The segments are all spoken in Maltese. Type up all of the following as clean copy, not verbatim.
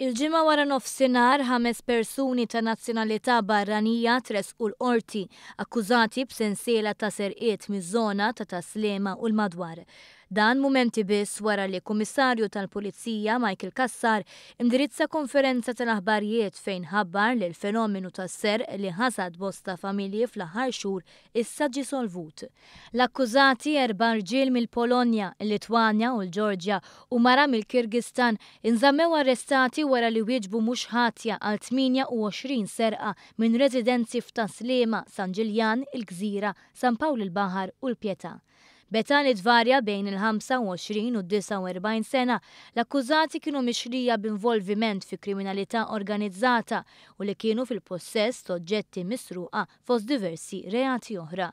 Il-Ġimgħa waranofsinhar, ħames persuni ta' nazzjonalità barranija tressqu l-Qorti akkużati b'sensiela ta' serqiet miż-żona ta' Tas-Sliema u l-madwar. Dan mumenti biss wara li Kummissarju tal-Pulizija Michael Cassar indirizza konferenza tal-aħbarijiet fejn ħabbar li l-fenomenu tas-serq li ħasad bosta familji fl-aħħar xhur issa ġie solvut. L-akkużati, erba' rġiel mill-Polonja, il-Litwanja u l-Ġorġja u mara mill-Kyrgyzstan, inżammew arrestati wara li wieġbu mhux ħatja għal 28 serqa minn residenzi f'Tas-Sliema, San Ġiljan, il-Gżira, San Pawl il-Baħar u l-Pietà. B'età li tvarja bejn il-25 u d-49 sena, l-akkużati kienu mixlija b'involviment fi kriminalità organizzata u li kienu fil-pussess t'oġġetti misruqa fost diversi reati oħra.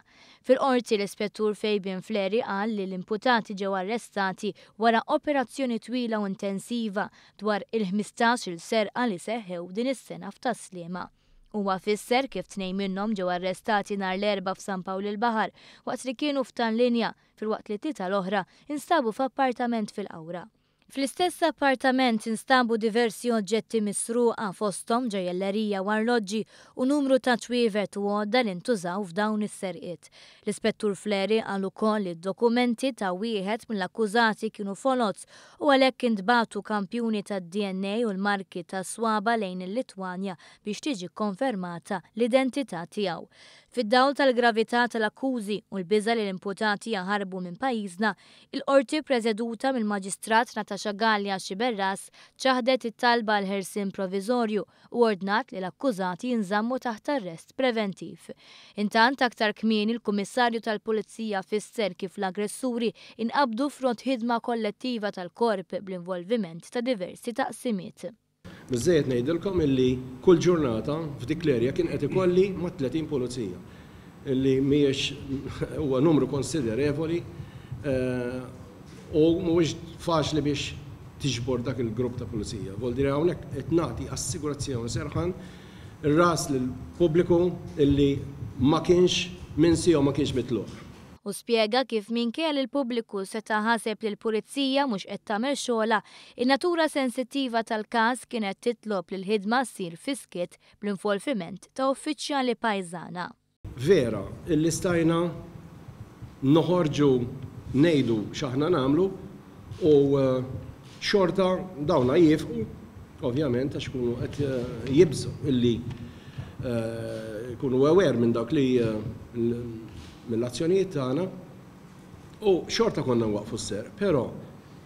Fil-Qorti, l-Ispettur Fabian Fleri qal li l-imputati ġew arrestati wara operazzjoni twila u intensiva dwar il-ħmistax-il serqa li seħħew din is-sena f'Tas-Sliema. Huwa fisser kif tnejn minnhom ġew arrestati nhar l-Erbgħa f'San Pawl il-Baħar waqt li kienu f'Tal-Linja filwaqt li t-tlieta l-oħra instabu f'appartament fil-Qawra. Fl-istess appartament instabu diversi oġġetti misruqa fosthom ġojjellerija u arloġġi u numru ta' ċwievet u għodda li ntużaw f'dawn is-serqiet. L-Ispettur Fleri qal ukoll li d-dokumenti ta' wieħed mill-akkużati kienu foloz u għalhekk intbagħtu kampjuni tad-DNA u l-marki tas-swaba' lejn il-Litwanja biex tiġi kkonfermata l-identità tiegħu. Fid-dawl tal-gravità tal-akkużi u l-biża' li l-imputati jaħarbu minn pajjiżna, Il-Qorti ppreseduta mill-Maġistrat Natasha Galea Sciberras ċaħdet it-talba għal ħelsien proviżorju u ordnat li l-akkużati jinżammu taħt arrest preventiv. Intant, aktar kmieni l-Kummissarju tal-Pulizija fisser kif l-aggressuri inqabdu frott ħidma kollettiva tal-Korp bl-involviment ta' diversi taqsimiet. Biżżejjed ngħidilkom illi kull ġurnata f'dik l-area kien qed ikolli mat-30 pulizija, illi mhijiex huwa numru konsiderevoli u mhuwiex faċli biex tiġbor dak il-grupp ta' pulizija. Vuol dire hawnhekk qed nagħti assigurazzjoni serħan ir-ras lill-pubbliku illi ma kienx minsi jew ma kienx mitluq. Hu spjega kif minkejja li l-pubbliku seta' ħaseb li l-Pulizija mhux qed tagħmel xogħolha, in-natura sensittiva tal-każ kienet titlob li l-ħidma ssir fis-skiet bl-involviment ta' uffiċjali pajżana. Vera illi stajna noħorġu ngħidu x'aħna nagħmlu u xorta dawna jiefqu ovvjament għax ikunu qed jibżgħu illi jkunu aware minn dak li mill-azzjonijiet tagħna u xorta konna nwaqqfu s-serq, però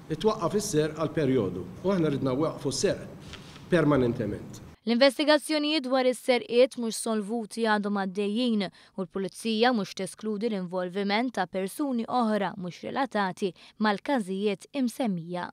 itwaqqaf is-serq għal perjodu u aħna ridna nwaqqfu s-serq permanentement. L-investigazzjonijiet dwar is-serqiet mhux solvuti għadhom għaddejjin u l-Pulizija mhux teskludi l-involviment ta' persuni oħra mhux relatati mal-każijiet imsemmija.